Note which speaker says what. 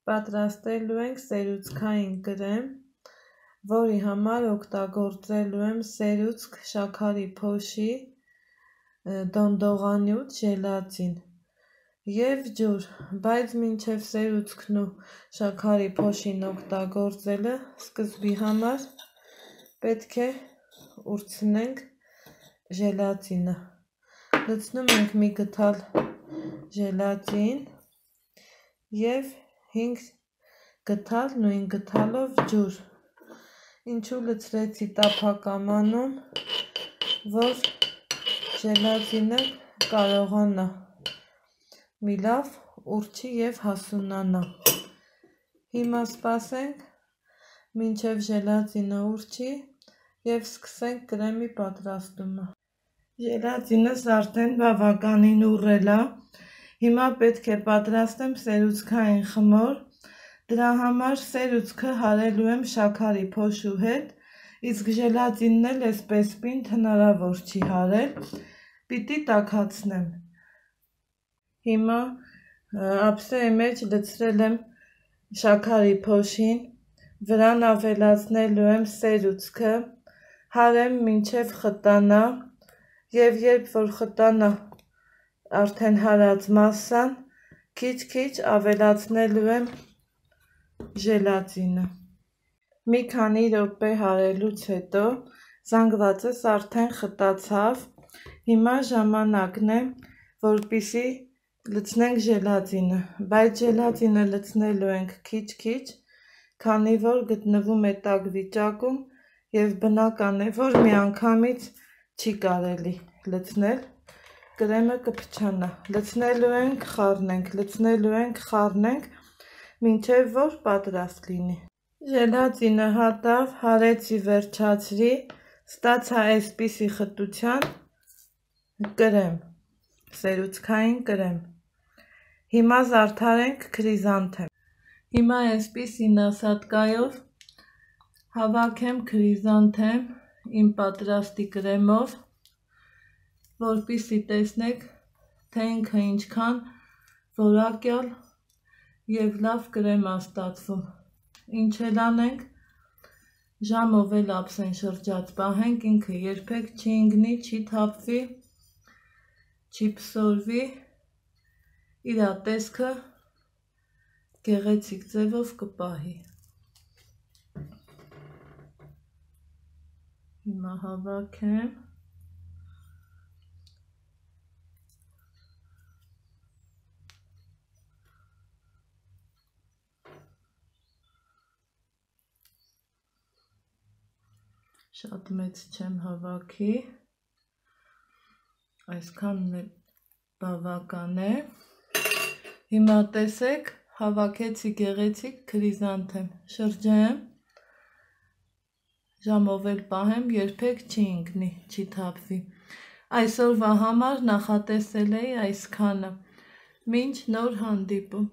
Speaker 1: Պատրաստելու ենք սերուցքային կրեմ, որի համար օգտագործելու եմ սերուցք, շաքարի փոշի, դոնդողանյութ, ժելատին և ջուր, բայց մինչև սերուցքն ու շաքարի փոշին օգտագործելը սկզբի համար պետք է ուրցնենք ժելատինը։ Լցնում ենք մի գդալ ժելատին և 5 գդալ նույն գդալով ջուր, ինչու լցրեցի տափակամանում, որ ժելատինը կարողանա մի լավ ուրչի և հասունանա։ Հիմա սպասենք մինչև ժելատինը ուրչի և սկսենք կրեմի պատրաստումը։ Ժելատինս արդեն բավականին ուռել է, հիմա պետք է պատրաստեմ սերուցքային խմոր, դրա համար սերուցքը հարելու եմ շաքարի փոշու հետ, իսկ ժելատինն էլ էսպես պինդ հնարավոր չի հարել, պիտի տաքացնեմ։ Հիմա ափսեի մեջ լցրել եմ շաքարի փոշին, վրան ավելացնելու եմ սերուցքը, հարեմ մինչև խտանա և երբ որ խտանա արդեն հարած մասսան, քիչ-քիչ ավելացնելու եմ ժելատինը։ Մի քանի րոպե հարելուց հետո զանգվածս արդեն խտացավ, հիմա ժամանակն է, որպեսզի լցնենք ժելատինը, բայց ժելատինը լցնելու ենք քիչ-քիչ, քանի որ գտնվում է տաք վիճակում և բնական է, որ միանգամից չի կարելի լցնել, կրեմը կփչանա։ Լցնելու ենք, խառնենք, լցնելու ենք, խառնենք, մինչև որ պատրաստ լինի։ Ժելատինը հատավ, հարեցի, վերջացրի, ստացա այսպիսի խտության կրեմ, սերուցքային կրեմ։ Հիմա զարդարենք քրիզանթեմ։ Հիմա այսպիսի նասատկայով հավաքեմ քրիզանթեմ իմ պատրաստի կրեմով, որպեսզի տեսնեք, թե ինքը ինչքան որակյալ և լավ կրեմ է ստացվում։ Ինչ էլ անենք, ժամով էլ ափսեն շրջած պահենք, ինքը երբեք չի ընկնի, չի թափվի, չի փսորվի, իր տեսքը գեղեցիկ ձևով կպահի։ Հիմա հավաքեմ։ Շատ մեծ չեմ հավաքի, այսքանն էլ բավական է։ Հիմա տեսեք, հավաքեցի գեղեցիկ քրիզանթեմ, շրջեմ, ժամով էլ պահեմ, երբեք չի ընկնի, չի թափվի։ Այսօրվա համար նախատեսել էի այսքանը։ Մինչ նոր հանդիպում։